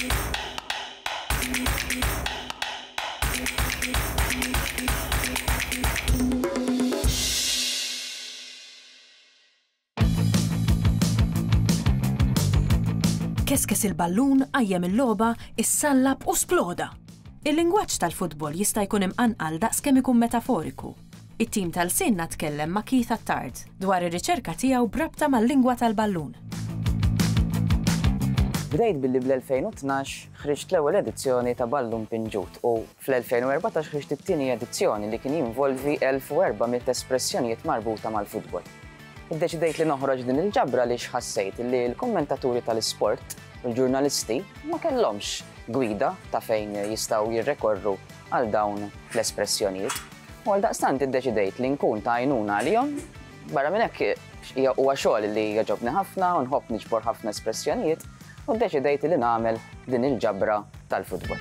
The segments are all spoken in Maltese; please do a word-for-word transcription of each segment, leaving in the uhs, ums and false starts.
Keskes il-ballun, qajjem il-logħba, issallab u sploda. Il-lingwaġġ tal-futbol jista' jkun imqanqal daqs kemm ikun metaforiku. It-tim tal-Sinna tkellem ma' Keith Attard dwar ir-riċerka tiegħu b'rabta mal-lingwa tal-ballun. Bdejt billi bl-elfejn u tnax ħriġt l-ewwel edizzjoni ta' Ballun Pinġut u fl-elfejn u erbatax ħriġt it-tieni edizzjoni li kien jinvolvi elf u erba' mitt espressjonijiet marbuta mal-futbol. Iddeċidejt li noħroġ din il-ġabra li xħassejt li l-kommentaturi tal-isport u l-ġurnalisti ma kellhomx gwida ta' fejn jistgħu jirrekorru għal dawn l-espressjonijiet. U għal daqstant iddeċidejt li nkun ta' għajnuna għalihom. Barra minn hekk hija huwa xogħol li jogħġobni ħafna u nħobb niġbor ħafna espressjonijiet u ddeċidejt li nagħmel din il-ġabra tal-futbol.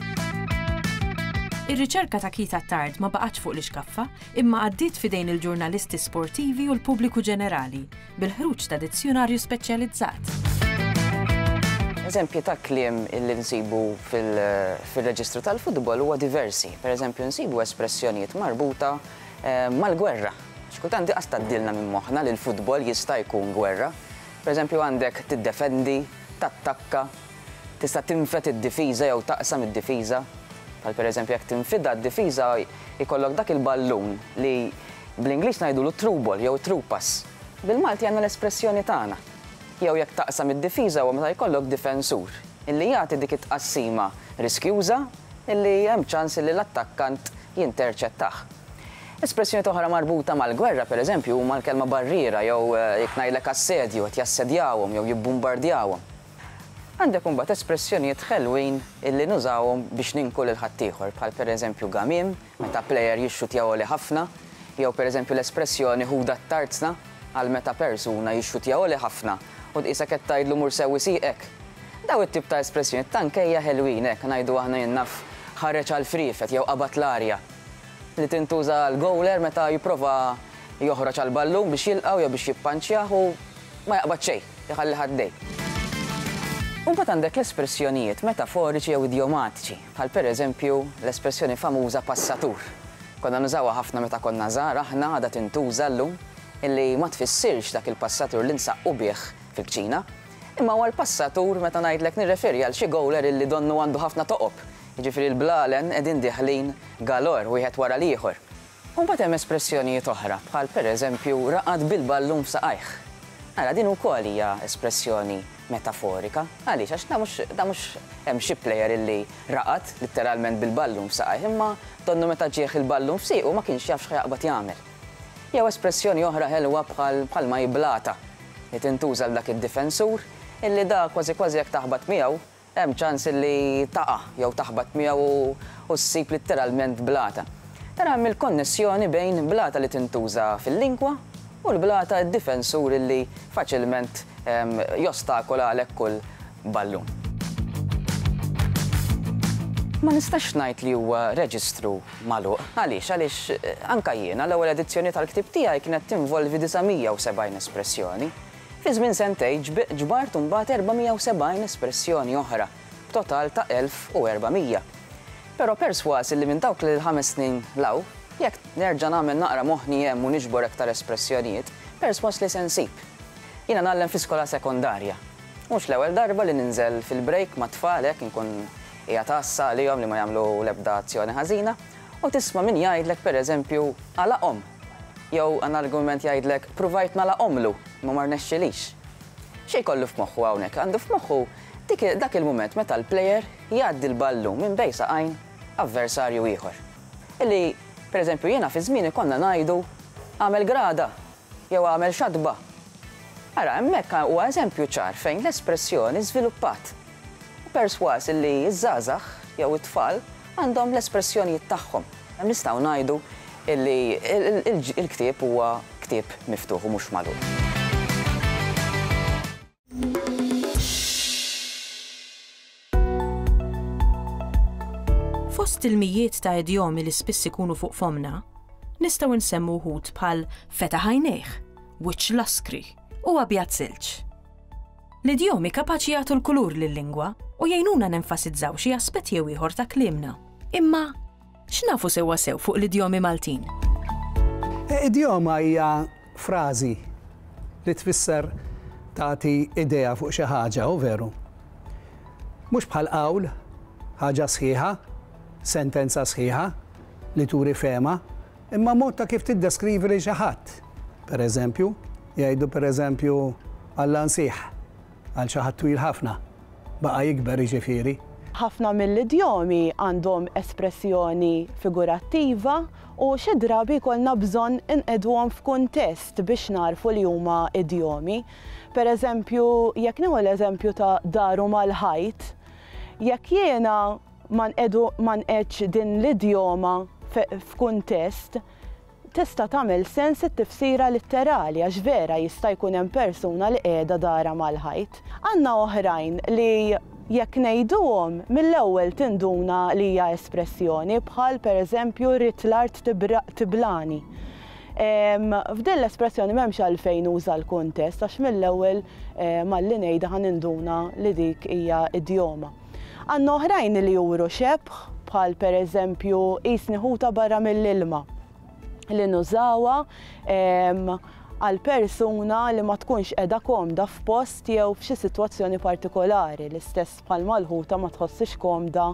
Ir-riċerka ta' Keith Attard ma baqgħetx fuq l-ixkaffa, imma għaddiet f'idejn il-ġurnalisti sportivi u l-pubbliku ġenerali bil-ħruġ ta' dizzjonarju speċjalizzat. Eżempji ta' kliem illi nsibu fil-, fil-reġistru tal-futbol huwa diversi. Per eżempju, nsibu espressjonijiet marbuta, eh, mal-gwerra. Xkultant di qas tgħaddilna minn moħħna li l-futbol jista' jkun gwerra. Per eżempju, għandek tiddefendi, tattakka, tista' tinfed id-difiża jew taqsam id-difiża. Bħal per eżempju, jekk tinfidha d-difiża jkollok dak il-ballun li bl-Ingliż ngħidulu through ball jew through pass. Bil-Malti għandna l-espressjoni tagħna. Jew jekk taqsam id-difiża huwa meta jkollok difensur illi jagħti dik it-tqassima riskjuża illi hemm ċans illi l-attakkant jinterċettah. Espressjoni oħra marbuta mal-gwerra, per eżempju, huma l-kelma barriera jew, eh, jekk ngħidlek assedju, qed jassedjawhom jew jibbombardjawhom. Għandek imbagħad espressjonijiet ħelwin illi nużawhom biex ninku lil ħaddieħor, bħal pereżempju gamiem, meta plejer jixxutja għoli ħafna, jew pereżempju l-espressjoni ħuda t-tarzna għal meta persuna jixxutja għoli ħafna u tqisek qed tgħidlu mur sewwi sieqek. Daw it-tip ta' espressjoni tankejja ħelwin hekk ngħidu aħna jien naf ħareġ għal friefet jew qabad l-arja li tintuża l-gowler meta jipprova joħroġ għal ballun biex jilqgħu jew biex jippanċjah u ma jaqbad xejn, iħalli ħaddej. U mbagħad għandek l-espressjonijiet metaforiċi jew idjomatiċi, bħal pereżempju l-espressjoni famuża passatur. Konna nużawha ħafna meta konna żgħar, aħna għadha tintuża llum, illi ma tfissirx dak il-passatur li nsaqqu bih fil-kċina, imma huwa l-passatur meta ngħidlek nirreferi għal xi gowler illi donnu għandu ħafna toqob. Jiġifieri l-blalen qegħdin diħlin galor wieħed wara l-ieħor. U mbagħad hemm espressjonijiet oħra, bħal pereżempju raqad bil-ballun f'saqajh. Ara din ukoll hija espressjoni metaforika. Għaliex? Għax da mhux, da mhux hemm xi plejer illi raqad letteralment bil-ballun f'saqajh, imma donnu meta ġieħ il-ballun f'siequ ma kienx jaf x'ħajaqbad jagħmel. Jew espressjoni oħra ħelwa bħal, bħal ma jiblata li tintuża l dak id-difensur illi da kważi kważi jekk taħbat miegħu hemm ċans illi taqa' jew taħbat miegħu u, u ssib letteralment blata. Tara hemm il-konnessjoni bejn blata li tintuża fil-lingwa u l-blata d-difensur illi faċilment, ehm, jostakola għalhekk kull ballun. Ma nistax ngħid li huwa reġistru magħluq. Għaliex? Għaliex, eh, anka jiena l-ewwel edizzjoni tal-ktieb tiegħi kienet tinvolvi disa' mija u sebgħin espressjoni. Fi żmien sentejn ġb-, ġbart imbagħad erba' mija u sebgħin espressjoni oħra, b'total ta' elf u erba' mija. Però perswas li minn dawk l-ħames snin law, jekk nerġa' nagħmel naqra moħħni hemm u niġbor aktar espressjonijiet, perswas li se nsib. Jiena ngħallem fi skola sekondarja. Mhux l-ewwel darba li ninżel fil-break ma' tfal hekk inkun hija tassa għalihom li ma jagħmlu l-ebda azzjoni ħażina, u tisma' min jgħidlek pereżempju għalaqhom. Jew għan argument jgħidlek pruvajt nagħlaqhomlu ma ma rnexxilix. Xi jkollu f'moħħu hawnhekk? Għandu f'moħħu dik, dak il-mument meta l-plejer jgħaddi l-ballun minn bejn saqajn avversarju ieħor. Illi, pereżempju, jiena fi żmieni konna ngħidu għamel grada jew għamel xatba. Ara, hemmhekk huwa eżempju ċar fejn l-espressjoni żviluppat. U perswas illi ż-żgħażagħ jew it-tfal għandhom l-espressjonijiet tagħhom. Hemm nistgħu ngħidu illi il-, il-, il-ktieb huwa ktieb miftuħ u mhux magħluq. Fost il-mijiet ta' idjomi li spiss ikunu fuq fomna, nistgħu nsemmu wħud bħal fetaħ għajnejh, wiċċ laskri u abjad silġ. L-idjomi kapaċi jagħtu l-kulur lil-lingwa u jgħinuna nenfasizzaw xi aspett jew ieħor ta' kliemna. Imma x'nafu sewwa sew fuq l-idjomi Maltin? Idjoma hija frażi li tfisser tagħti idea fuq xi ħaġa, u veru. Mhux bħal qawl, ħaġa sħiħa, sentenza sħiħa li turi fehma, imma mod ta' kif tiddeskrivi lil xi ħadd. Per eżempju, jgħidu per eżempju Alla nsieħ għal xi ħadd twil ħafna, baqa' jikber jiġifieri. Ħafna mill-idjomi għandhom espressjoni figurattiva u xi drabi jkollna bżonn inqegħduhom f'kuntest biex narfu li huma idjomi. Per eżempju, jekk nieħu l-eżempju ta' daru mal-ħajt, jekk jiena ma nqedu ma nqedx din l-idjoma f'kuntest, tista' tagħmel sens it-tifsira litterali għax vera jista' jkun hemm persuna li qiegħda dara mal-ħajt. Għandna oħrajn li jekk ngħiduhom mill-ewwel tinduna li hija espressjoni bħal pereżempju rrid l-art tiblani. F'din l-espressjoni m'hemmx għalfejn uża l-kuntest għax mill-ewwel malli ngħidha ħa ninduna li dik hija idjoma. Għandna oħrajn li juru xebh bħal pereżempju qisni ħuta barra mill-ilma li nużawha għal persuna li ma tkunx qiegħda komda f'post jew f'xi sitwazzjoni partikolari, l-istess bħal mal-ħuta ma tħossix komda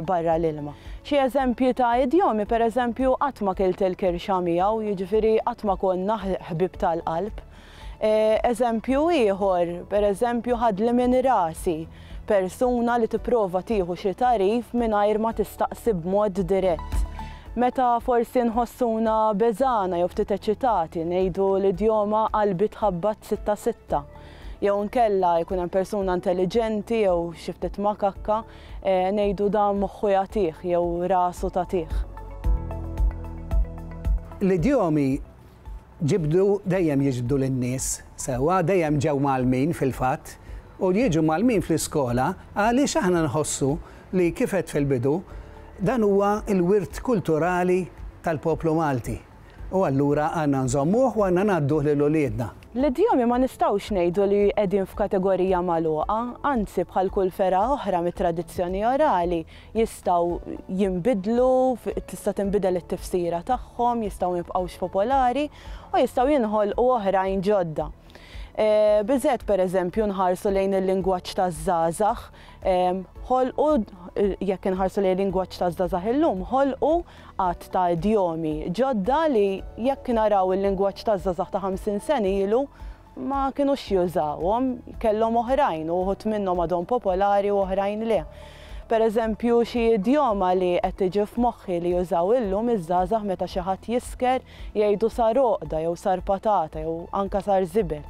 barra l-ilma. Xi eżempji ta' idjomi, pereżempju, qatt ma kilt il-kirxa miegħu, jiġifieri qatt ma konna ħbib tal-qalb. Eżempju ieħor, pereżempju ħadli minn rasi, persuna li tipprova tieħu xi tagħrif mingħajr ma tistaqsi b'mod dirett. Meta forsi nħossuna beżana jew ftit eċitati ngħidu l-idjoma qalbi tħabbat sitta sitta. Jew nkella jkun hemm persuna intelligenti jew xi ftit makakka ngħidu dan moħħu jagħtih jew rasu tagħtih. L-idjomi ġibdu dejjem jiġbdu lin-nies sewwa, dejjem ġew mgħallmin fil-fatt u jiġu mgħallmin fl-iskola għaliex aħna nħossu li kif għedt fil-bidu dan huwa l-wirt kulturali tal-poplu Malti. U allura għandna nżommuh u għandna ngħadduh lil uliedna. L-idjomi ma nistgħux ngħidu li qegħdin f'kategorija magħluqa, anzi bħal kull fergħa oħra mit-tradizzjoni orali jistgħu jinbidlu, tista' tinbidel it-tifsira tagħhom, jistgħu jibqgħux popolari u jistgħu jinħolqu oħrajn ġodda. Biżgħet pereżempju nħarsu lejn il-lingwaġġ taż-żgħażagħ, ħolqu jekk inħarsu lejn il-lingwaġġ taż-żgħażagħ illum, ħolqu għadd ta' idjomi ġodda li jekk naraw il-lingwaġġ taż-żgħażagħ ta' ħamsin sena ilu ma kinux jużawhom, kellhom oħrajn u wħud minnhom għadhom popolari u oħrajn le. Pereżempju xi idjoma li qed tiġi f'moħħi li jużaw illum iż-żgħażagħ meta xi ħadd jisker jgħidu sar għoqda jew sar patata jew anke sar żibel.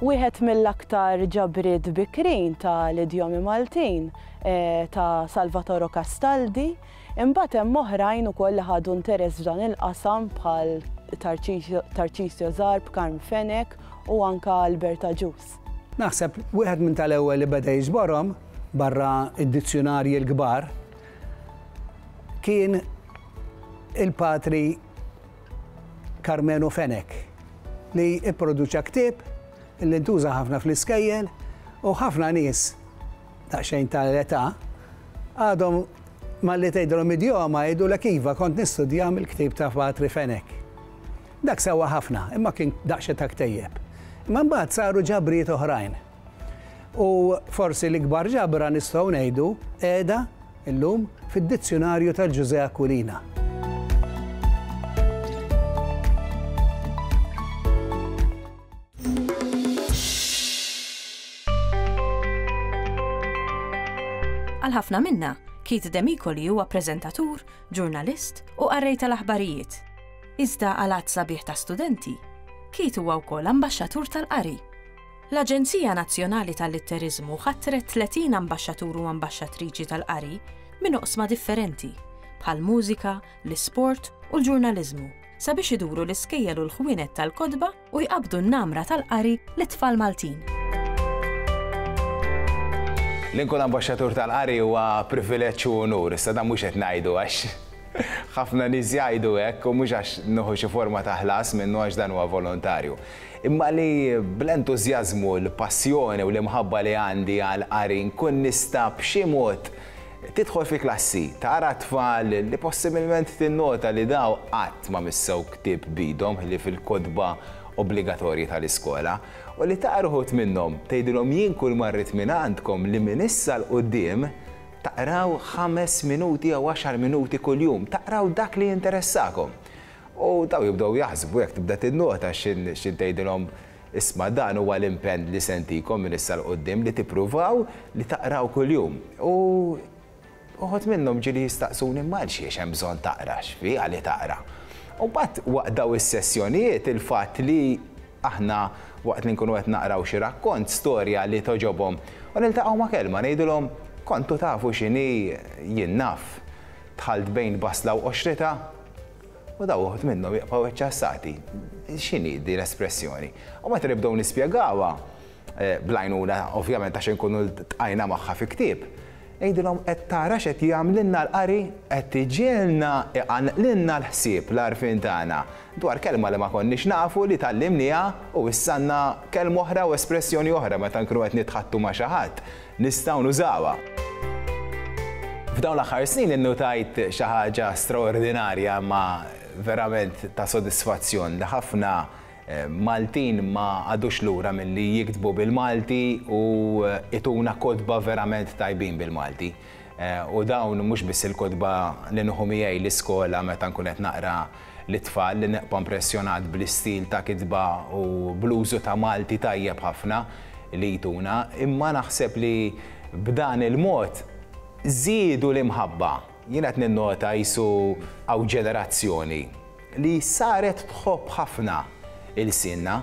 Wieħed mill-aktar ġabriet bikrin tal-idjomi Maltin ta' Salvatore Castaldi, imbagħad hemm oħrajn ukoll li ħadu interess f'dan il-qasam bħal Tarcisio Zarb, Karm Fenech u anke Albert Agius. Naħseb wieħed minn tal-ewwel li beda jiġborhom barra id-dizzjonarji l-kbar kien il-patri Karmenu Fenech li ipproduċa ktieb li ntuża ħafna fl-iskejjel u ħafna nies daqsxejn tal-età għadhom malli tgħidilhom idjoma jgħidulek iva kont nistudja mill-ktieb ta' Patri Fenech. Dak sewa ħafna, imma kien daqsxejn ta' ktejjeb. Imma mbagħad saru ġabrijiet oħrajn. U forsi l-ikbar ġabra nistgħu ngħidu qiegħda illum fid-dizzjonarju tal-Ġużè Aquilina. Għal ħafna minna, Keith Demicoli huwa preżentatur, ġurnalist u qarrej tal-aħbarijiet. Iżda għal għadd sabiħ ta' studenti, Keith huwa wkoll ambaxxatur tal-qari. L-Aġenzija Nazzjonali tal-Litteriżmu ħatret tletin ambaxxatur u ambaxxatriċi tal-qari minn oqsma differenti, bħal mużika, l-isport u l-ġurnaliżmu, sabiex iduru l-iskejjel u l-ħwienet tal-kotba u jqabdu n-namra tal-qari lit-tfal Maltin. Li nkun ambaxxatur tal-qari huwa privileġġ u onur, issa dan mhux qed ngħidu għax ħafna nies jgħidu hekk u mhux għax nieħu xi forma ta' ħlas minnu għax dan huwa volontarju. Imma li bl-entużjażmu, l-passjoni u l-imħabba li għandi għal-qari nkun nista' b'xi mod tidħol fi klassi, tara tfal li possibilment tinnota li daw qatt ma missew ktieb b'idhom li fil-kotba obbligatorji tal-iskola u li taqra uħud minnhom tgħidilhom jien kull ma rrid minn għandkom li minn issa 'l quddiem taqraw ħames minuti jew għaxar minuti kuljum, taqraw dak li jinteressakom. U daw jibdew jaħsbu jekk tibda tinnota x'in tgħidilhom isma' dan huwa l-impenn li sentikom minn issa 'l quddiem li tippruvaw li taqraw kuljum. U uħud minnhom ġieli jistaqsuni imma għalxiex hemm bżonn taqra, x'fiha li taqra. U mbagħad waqt daw is-sessjonijiet il-fatt li aħna waqt li nkunu qed naqraw xi rakkont, storja li toġobhom, u niltaqgħu ma' kelma ngħidulhom kontu tafu x'inhi jien naf. Dħalt bejn basla u qoxrita u daw uħud minnhom jibqgħu eċċassati. X'inhi din l-espressjoni? U meta nibdew nispjegawha bl-għajnuna ovvjament għax inkunu ltqajna magħha fi ktieb, ngħidilhom qed tara x'qed jagħmlilna l-qari, qed iġielna iqanqlilna l-ħsieb l-għarfien tagħna dwar kelma li ma konniex nafu li tgħallimniha u issa għandna kelma oħra u espressjoni oħra meta nkunu qed nitħattu ma' xi ħadd nistgħu nużawha. F'dawn l-aħħar snin innutajt xi ħaġa straordinarja ma verament ta' sodisfazzjon li ħafna Maltin ma għadux lura milli jiktbu bil-Malti u ituna kotba verament tajbin bil-Malti. U dawn mhux biss il-kotba li nieħu miegħi l-iskola meta nkun qed naqra l-itfal li neqpa impressjonat bl-istil ta' kitba u bl-użu ta' Malti tajjeb ħafna li jtuna, imma naħseb li b'dan il-mod żiedu l-imħabba. Jien qed ninnota qisu hawn ġenerazzjoni li saret tħobb ħafna il-sinna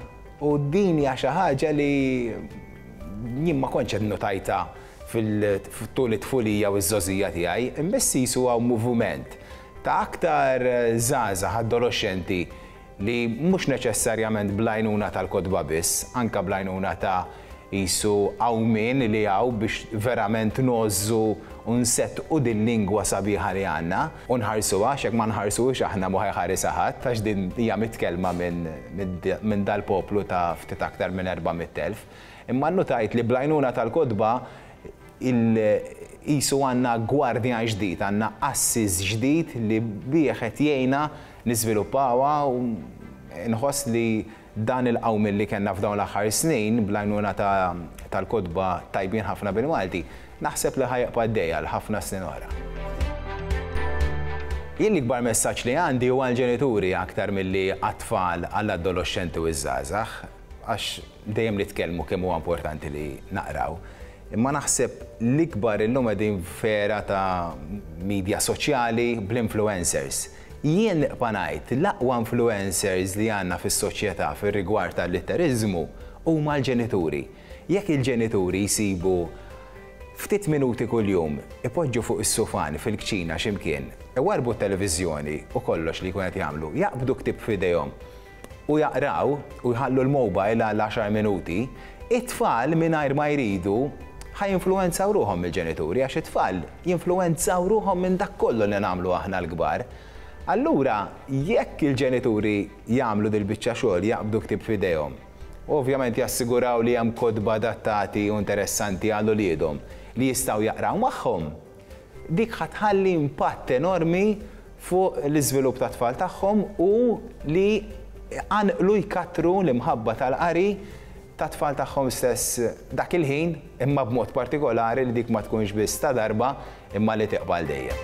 u din hija xi ħaġa li jien ma kontx qed notajta fil-tul it-tfulija u ż-żgħożija tiegħi, imma qisu hawn moviment ta' aktar żgħażagħ adolescenti li mhux neċessarjament bl-għajnuna tal-kotba biss, anke bl-għajnuna ta' qisu qawmien li hawn biex verament ngħożżu u nsettqu din lingwa sabiħa li għandna u nħarsuha, għax jekk ma nħarsuhiex aħna mhu ħajħarisha ħadd għax din hija mitkellma minn dal-poplu ta' ftit aktar minn erba' mitt elf. Imma nnutajt li bl-għajnuna tal-kotba qisu għandna gwardjan ġdid, għandna qassis ġdid li bih qed jgħinna niżviluppawha u nħoss li dan il-qawmien li kellna f'dawn l-aħħar snin bl-għajnuna tal-kotba tajbin ħafna bil-Malti, naħseb li ħajqpa' għaddej għal ħafna snin oħra. Jien l-ikbar messaġġ li għandi huwa għall-ġenituri aktar milli għat-tfal, għall-adolescenti u ż-żgħażagħ, għax dejjem nitkellmu kemm huwa importanti li naqraw. Imma naħseb l-ikbar illum qegħdin f'era ta' media soċjali bl-influencers. Jien nibqa' ngħid l-aqwa influencers li għandna fis-soċjetà fir-rigward tal-litteriżmu huma l-ġenituri. Jekk il-ġenituri jsibu ftit minuti kuljum ipoġġu fuq is-sufan fil-kċina x'imkien, iwarbu t-televiżjoni u kollox li jkun qed jagħmlu, jaqbdu ktieb f'idejhom u jaqraw u jħallu l-mobile għal għaxar minuti, it-tfal mingħajr ma jridu ħajinfluwenzaw ruħhom mill-ġenituri għax it-tfal jinfluwenzaw ruħhom minn dak kollu li nagħmlu aħna l-kbar. Allura, jekk il-ġenituri jagħmlu dil-biċċa xogħol, jaqbdu ktieb f'idejhom, ovvjament jassiguraw li hemm kotba adattati u interessanti għal uliedhom li jistgħu jaqraw magħhom, dik ħatħalli impatt enormi fuq l-iżvilupp tat-tfal tagħhom u li għanqlu jkattru l-imħabba tal-qari tat-tfal tagħhom stess dak il-ħin, imma b'mod partikolari li dik ma tkunx biss ta' darba imma li tiqbal dejjem.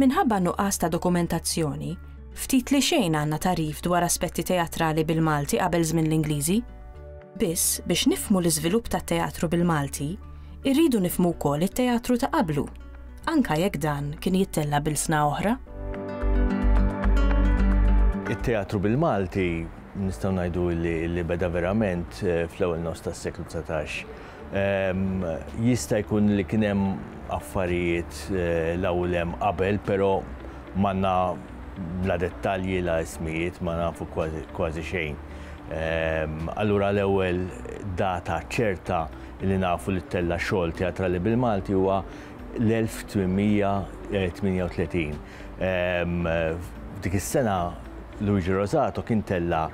Minħabba nuqqas ta' dokumentazzjoni, ftit li xejn għandna tagħrif dwar aspetti teatrali bil-Malti qabel żmien l-Ingliżi. Biss biex nifhmu l-iżvilupp tat-teatru bil-Malti, irridu nifhmu wkoll it-teatru ta' qablu, anka jekk dan kien jittella' bil-sna oħra. It-teatru bil-Malti nistgħu ngħidu li beda verament fl-ewwel nofs tas-seklu dsatax. Jista' jkun li kien hemm affarijiet l-ewwel hemm qabel, però m'għandna la dettalji la ismijiet, ma nafu kważi xejn. Allura l-ewwel data ċerta li nafu li ttella' xogħol teatrali bil-Malti huwa l-elf tmien mija tmienja u tletin. F'dik is-sena Luigi Rosato kien tella'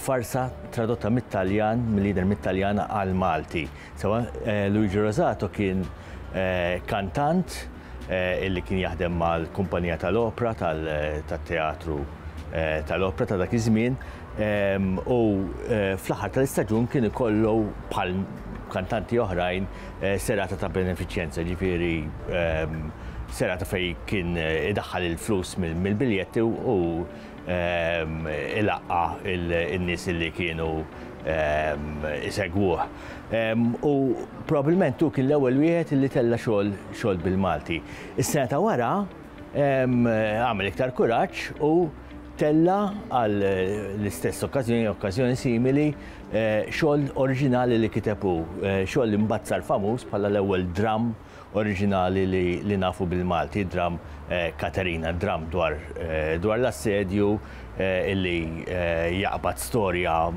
farsa tradotta mit-Taljan, mill-lider mit-Taljan għal Malti. Sewa, Luigi Rosato kien kantant illi kien jaħdem mal-kumpanija tal-opra, tal-teatru tal-opra ta' dak iż-żmien, u fl-aħħar tal-istaġun kien ikollu bħal kantanti oħrajn serata ta' benefiċjenza, ġifieri serata fej kien idaħħal il-flus mill-biljetti u ilaqqa in-nies li kienu isegwuh. U probabbilment hu kien l-ewwel wieħed li tella' xogħol xogħol bil-Malti. Is-sena ta' wara għamel iktar kuraġġ u tella' għal l-istess okkażjoni, okkażjoni simili, xogħol oriġinali li kiteb hu, xogħol li mbagħad sar famuż bħala l-ewwel dram oriġinali li nafu bil-Malti, dram Katerina, dram dwar dwar l-assedju illi jaqbad storja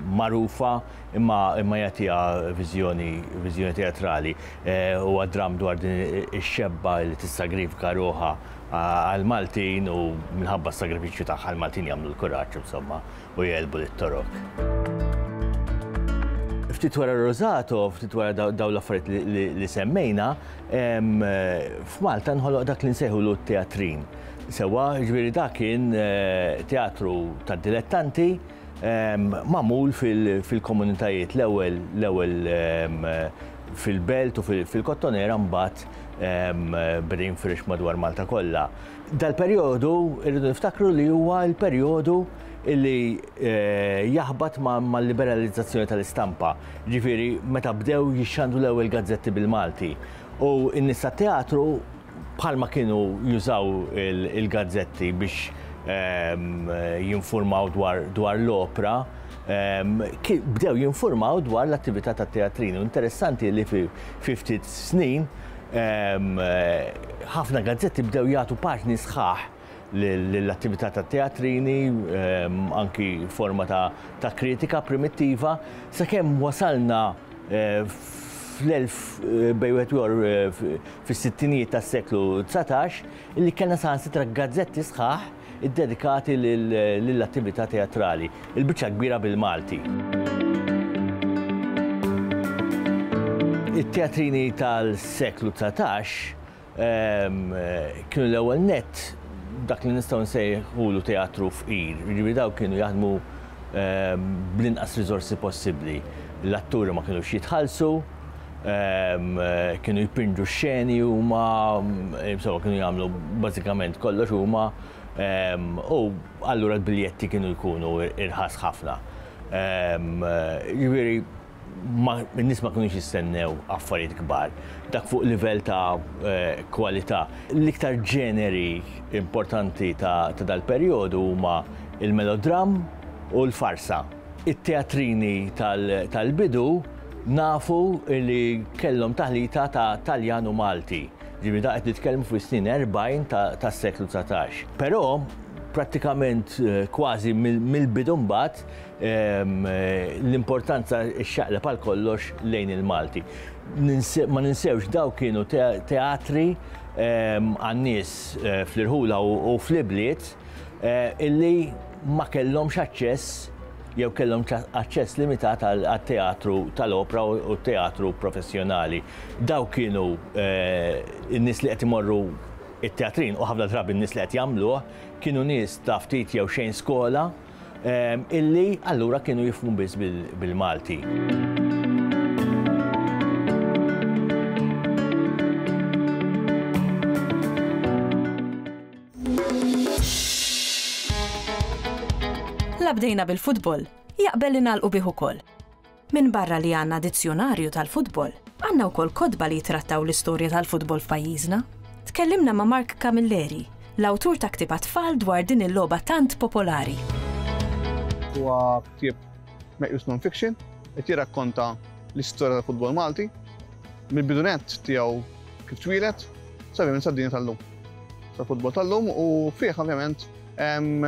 magħrufa imma imma jagħtiha viżjoni viżjoni teatrali. Huwa dram dwar din ix-xebba li tissagrifika ruħha għal-Maltin u minħabba s-sagrifiċċju tagħha l-Maltin jagħmlu l-kuraġġ insomma u jgħelbu lit-Torok. Ftit wara Rosato, ftit wara dawn l-affarijiet li semmejna, f'Malta nħoloq dak li nsejħulu t-teatrin. Sewa, ġifieri dak kien teatru tad-dilettanti magħmul fil-komunitajiet, l-ewwel l-ewwel fil-belt u fil-Kottonera, mbagħad beda jinfirex madwar Malta kollha. Dal-perjodu irridu niftakru li huwa l-perjodu illi jaħbat mal-liberalizzazzjoni tal-istampa. Ġifieri meta bdew jixxandu l-ewwel gazzetti bil-Malti. U n-nies tat-teatru bħalma kienu jużaw il-gazzetti biex jinformaw dwar l-opra, bdew jinformaw dwar l-attività tat-teatrini. Interessanti li fi ftit snin ħafna gazzetti bdew jagħtu paġni sħaħ l-attività tat-teatrini, anki forma ta' kritika primittiva, sakemm wasalna fl-elf bejn wieħed u ieħor fis-sittinijiet tas-seklu dsatax illi kellna saħansitra gazzetti sħaħ iddedikati lill-attività teatrali, il-biċċa kbira bil-Malti. It-teatrini tal-seklu dsatax kienu l-ewwel nett dak li nistgħu nsejħulu teatru fqir, jiġifieri dawn kienu jaħdmu bl-inqas riżorsi possibbli. L-atturi ma kinux jitħallsu, kienu jpinġu x-xeni huma, insomma kienu jagħmlu bażikament kollox huma, u allura l-biljetti kienu jkunu irħas ħafna. Jiġifieri n-nies ma kinux jistennew affarijiet kbar, dak fuq livell ta' kwalità. L-iktar ġeneri importanti ta' dal-perjodu huma il-melodram u l-farsa. It-teatrini tal-bidu nafu li kellhom taħlita ta' Taljan u Malti. Ġifieri da qed nitkellmu fuq is-snin erbgħin tas-seklu dsatax. Però prattikament kważi mill-bidu mbagħad l-importanza xxaqleb għal kollox lejn il-Malti. Ma ninsewx daw kienu teatri għan-nies fl-irħula u fl-ibliet illi ma kellhomx aċċess jew kellhom aċċess limitat għat-teatru tal-opra u t-teatru professjonali. Daw kienu n-nies li qed imorru it-teatrin u ħafna drabi n-nies li qed jagħmluh kienu nies ta' ftit jew xejn skola illi allura kienu jifhmu biss bil-Malti. La bdejna bil-futbol, jaqbel li nagħlqu bih ukoll. Min barra li għandna dizzjonarju tal-futbol, għandna wkoll kotba li jitrattaw l-istorja tal-futbol f'pajjiżna. Tkellimna ma' Mark Camilleri, l-awtur ta' ktieb għat-tfal dwar din il-logħba tant popolari. Huwa ktieb meqjus non-fiction, qed jirrakkonta l-istorja tal-futbol Malti, mill-bidu nett tiegħu kif twieled, sa minn sad-dinja tal-lum. Sal-futbol tal-lum u fih ovvjament hemm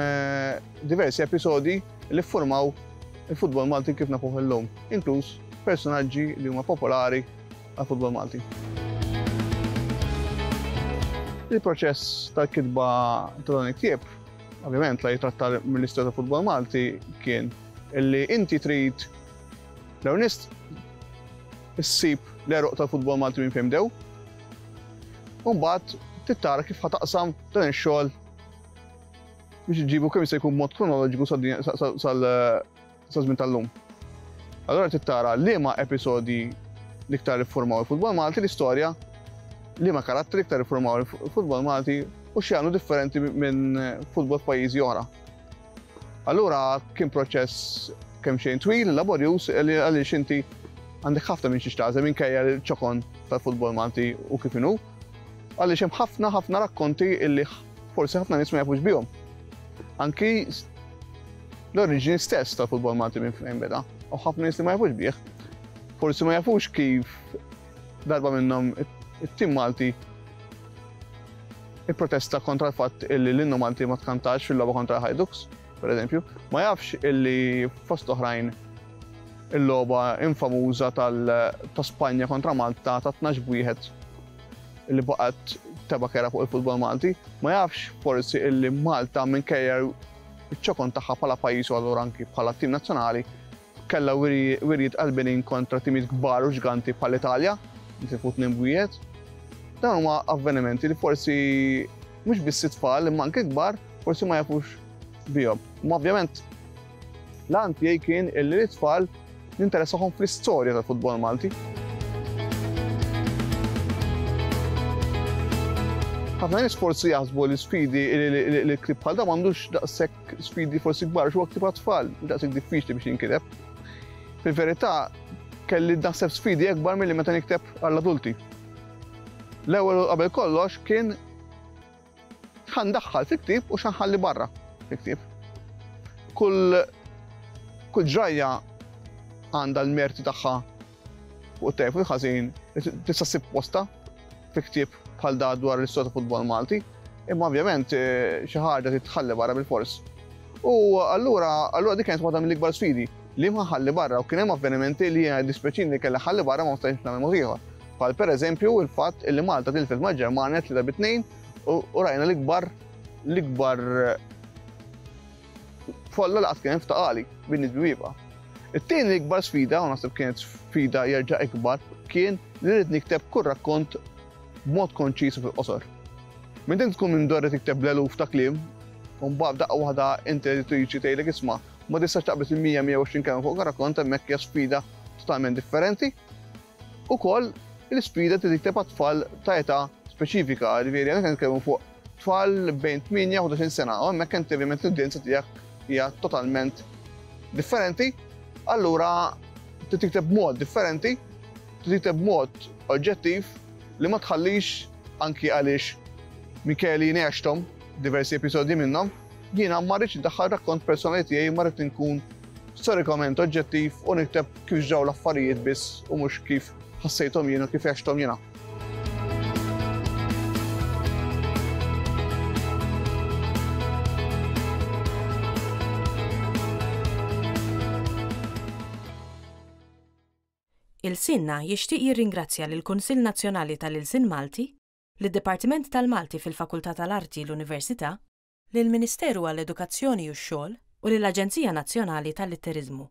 diversi episodi li ffurmaw il-futbol Malti kif nafuh illum, inkluż personaġġi li huma popolari għal-futbol Malti. Il-proċess tal-kitba ta' dan il-ktieb, ovvjament la jitratta mill-istorja tal-futbol Malti, kien illi inti trid l-ewwel issib l-għeruq tal-futbol Malti minn fejn bdew, u mbagħad tittara kif ħa taqsam dan ix-xogħol biex iġibu kemm jista' jkun mod kronoloġiku sal-żmien tal-lum. Allora tittara liema episodi l-iktar iffurmaw il-futbol Malti, l-istorja, liema karattri iktar iffurmaw il-futbol Malti u x'jagħmlu differenti minn futbol f'pajjiżi oħra. Allura kien proċess kemm xejn twil, laborjuż, għaliex inti għandek ħafna minn xiex tagħżel minkejja l-ċokon tal-futbol Malti u kif inhu, għaliex hemm ħafna ħafna rakkonti illi forsi ħafna nies ma jafux bihom. Anki l-oriġini stess tal-futbol Malti minn fejn beda, u ħafna nies li ma jafux bih. Forsi ma jafux kif darba minnhom it-tim Malti ipprotesta kontra l-fatt illi l-innu Malti ma tkantax fil-logħba kontra Hajduks, per eżempju, ma jafx illi fost oħrajn il-logħba infamuża ta' Spanja kontra Malta ta' tnax b'wieħed illi baqgħet teba kera fuq il-futbol Malti, ma jafx forsi illi Malta minkejja iċ-ċokon tagħha bħala pajjiż u allura anki bħala tim nazzjonali kellha wirjiet qalbinin kontra timijiet kbar u ġganti bħal-Italja, li tilfu tnejn b'wieħed. Dawn huma avvenimenti li forsi mhux biss it-tfal imma anke kbar forsi ma jafux bihom. Ma ovvjament l-għan tiegħi kien illi l-tfal ninteressahom fl-istorja tal-futbol Malti. Ħafna nies forsi jaħsbu li sfidi li ktieb bħal dan m'għandux daqshekk sfidi forsi kbar, x'huwa ktieb għat-tfal, daqshekk diffiċli biex jinkiteb. Fil-verità kelli naħseb sfidi akbar milli meta nikteb għall-adulti. L-ewwel qabel kollox kien x'ħandaħħal fil-ktieb u x'ħanħalli barra fil-ktieb. Kull kull ġrajja għandha l-merti tagħha fuq it-tajjeb u l-ħażin tista' ssib posta fi ktieb bħal da dwar l-istorja ta' futbol Malti, imma ovvjament xi ħaġa titħalli barra bil-fors. U allura allura dik kienet waħda mill-ikbar sfidi li ma ħalli barra u kien hemm avvenimenti li jiena dispeċini li kellha ħalli barra ma stajtx nagħmel mod ieħor. Bħal pereżempju il-fatt li Malta tilfet mal-Ġermanja tlieta bi tnejn u rajna l-ikbar l-ikbar folla li qatt kien hemm f'taqali bin-nies biwieqa. It-tieni l-ikbar sfida, u naħseb kienet sfida jerġa' ikbar, kien li rrid nikteb kull rakkont b'mod konċis u fil-qosor. Minn din tkun minn dorri tikteb l-eluf ta' kliem, u mbagħad daqqa waħda inti editriċi tgħidlek isma' ma tistax taqbes il-mija mija u għoxrin kelma fuq rakkont, hemmhekk hija sfida totalment differenti. Ukoll l-isfida li tikteb għat-tfal ta' età speċifika, ġifieri għandek nitkellmu fuq tfal bejn tmienja u ħdax-il sena, u hemmhekk inti ovvjament l-udjenza tiegħek hija totalment differenti. Allura trid tikteb b'mod differenti, trid tikteb b'mod oġġettiv li ma tħallix anki għaliex Micheli ngħexthom diversi episodji minnhom, jiena ma rridx indaħħal rakkont personali tiegħi, ma rrid inkun storikament oġġettiv u nikteb kif ġraw l-affarijiet biss u mhux kif ħassejthom jiena u kif għexthom jiena. Ilsienna jixtieq jirringrazzja lill-Kunsill Nazzjonali tal-Ilsien Malti, lid-Dipartiment tal-Malti fil-Fakultà tal-Arti l-Università, lill-Ministeru għall-Edukazzjoni u x-Xogħol u lill-Aġenzija Nazzjonali tal-Litteriżmu.